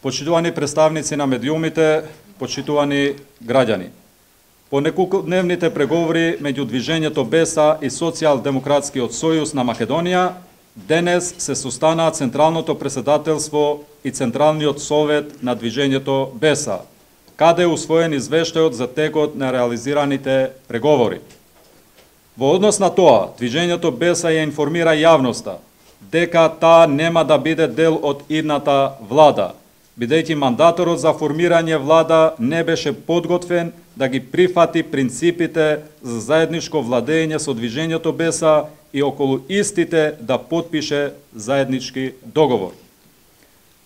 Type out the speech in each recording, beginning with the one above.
почитувани представници на медиумите, почитувани граѓани. По неколкудневните преговори меѓу движењето БЕСА и Социјалдемократскиот сојуз на Македонија, денес се состанаа Централното претседателство и Централниот совет на движењето БЕСА, каде е усвоен извештајот за текот на реализираните преговори. Во однос на тоа, движењето БЕСА ја информира јавноста дека таа нема да биде дел од идната влада, бидејќи мандаторот за формирање влада не беше подготвен да ги прифати принципите за заедничко владење со движењето БЕСА и околу истите да потпише заеднички договор.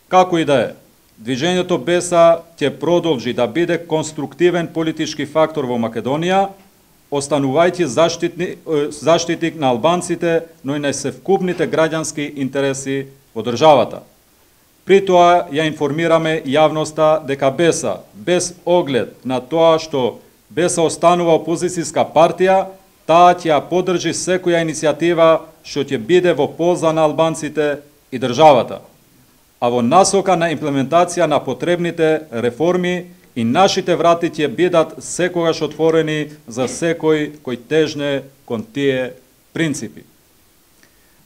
Како и да е, движењето БЕСА ќе продолжи да биде конструктивен политички фактор во Македонија, останувајќи заштитник на албанците, но и на севкупните граѓански интереси во државата. При тоа ја информираме јавноста дека БЕСА, без оглед на тоа што БЕСА останува опозицијска партија, таа ќе ја поддржи секоја иницијатива што ќе биде во полза на албанците и државата, а во насока на имплементација на потребните реформи и нашите врати ќе бидат секогаш отворени за секој кој тежне кон тие принципи.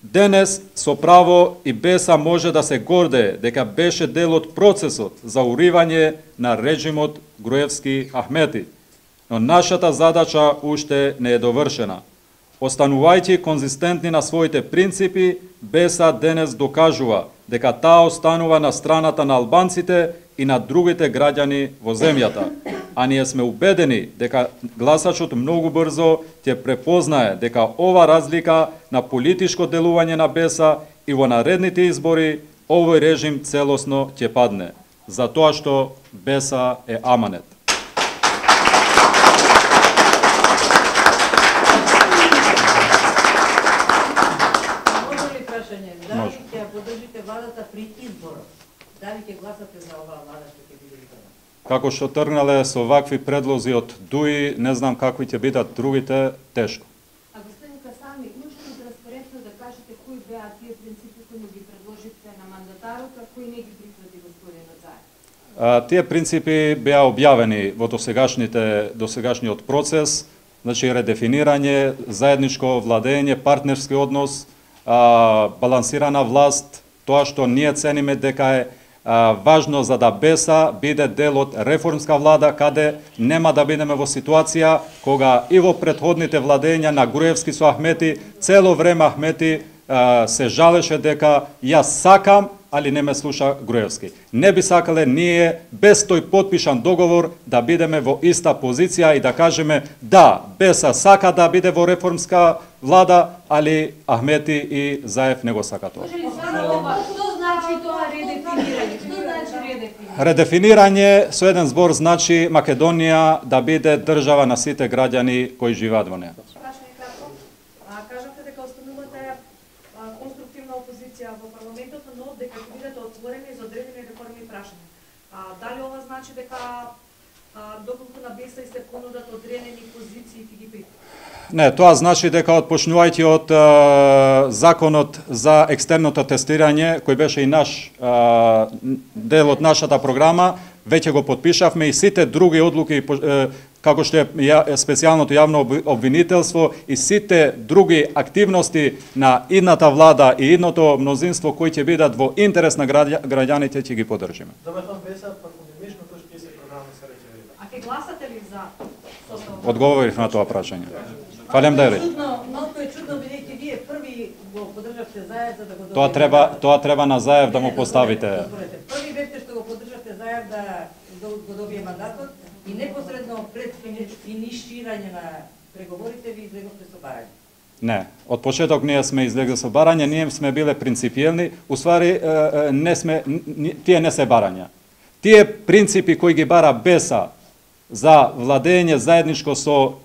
Денес, со право, и БЕСА може да се гордее дека беше дел од процесот за уривање на режимот Груевски-Ахмети, но нашата задача уште не е довршена. Останувајќи конзистентни на своите принципи, БЕСА денес докажува дека таа останува на страната на албанците и на другите граѓани во земјата, а ние сме убедени дека гласачот многу брзо ќе препознае дека ова разлика на политичко делување на БЕСА и во наредните избори овој режим целосно ќе падне, затоа што БЕСА е аманет. Дали ќе поддржите владата при изборот? Дали ќе гласате за оваа влада што ќе биде изборот? Како што тргнале со вакви предлози од ДУИ, не знам какви ќе бидат другите, тешко. А господин Касами, можете ли транспарентно да кажете кои беа тие принципи кои ги предложите на мандатарот, а кои не ги прифати господинот Заев? Тие принципи беа објавени во досегашниот процес, значи редефинирање, заедничко владење, партнерски однос, балансирана власт, тоа што ние цениме дека е важно за да БЕСА биде дел од реформска влада, каде нема да бидеме во ситуација кога и во претходните владења на Груевски со Ахмети, цело време Ахмети се жалеше дека јас сакам, али не ме слуша Груевски. Не би сакале ние без тој потпишан договор да бидеме во иста позиција и да кажеме да, БЕСА сака да биде во реформска влада, али Ахмети и Заев не го сака тоа. Што значи тоа редефинирање? Што значи редефинирање? Редефинирање со еден збор значи Македонија да биде држава на сите граѓани кои живеат во неа. Кажавте дека останувате конструктивна опозиција во парламентот, но дека ќе бидете отворени за одредени реформи и прашања. Дали ова значи дека доколку на БЕСА и се понудат одредени позиции ќе ги прифатите? Не, тоа значи дека отпочнувајќи од законот за екстерното тестирање, кој беше и наш дел од нашата програма, веќе го подпишавме и сите други одлуки, како што е специјалното јавно обвинителство и сите други активности на идната влада и идното мнозинство кои ќе бидат во интерес на граѓаните, ќе ги поддржиме. А ќе гласате ли за составот? Одговорив на тоа прашање. Фалемдери. Малку е чудно бидејќи вие први го поддржавте Заев за да го добиете. Тоа треба на Заев да му поставите. Први бевте што го поддржавте Заев да го добие мандатот и непосредно пред финиширање на преговорите ви излеговте со барање. Не, од почеток ние сме излегли со барање, ние сме биле принципиелни, уствари тие не се барања. Тие принципи кои ги бара БЕСА за владење заедничко со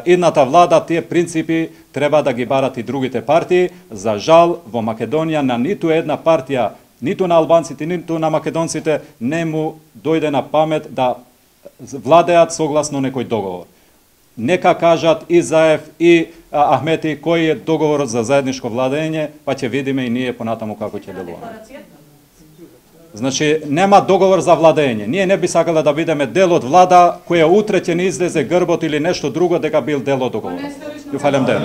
идната влада, тие принципи треба да ги барат и другите партии. За жал, во Македонија на ниту една партија, ниту на албанците, ниту на македонците не му дојде на памет да владеат согласно некој договор. Нека кажат и Заев и Ахмети кој е договорот за заедничко владење, па ќе видиме и ние понатаму како ќе делуваме. Значи, нема договор за владење. Ние не би сакале да бидеме дел од влада која утре ќе не излезе грбот или нешто друго дека бил дел од договор. Ја фалем ден.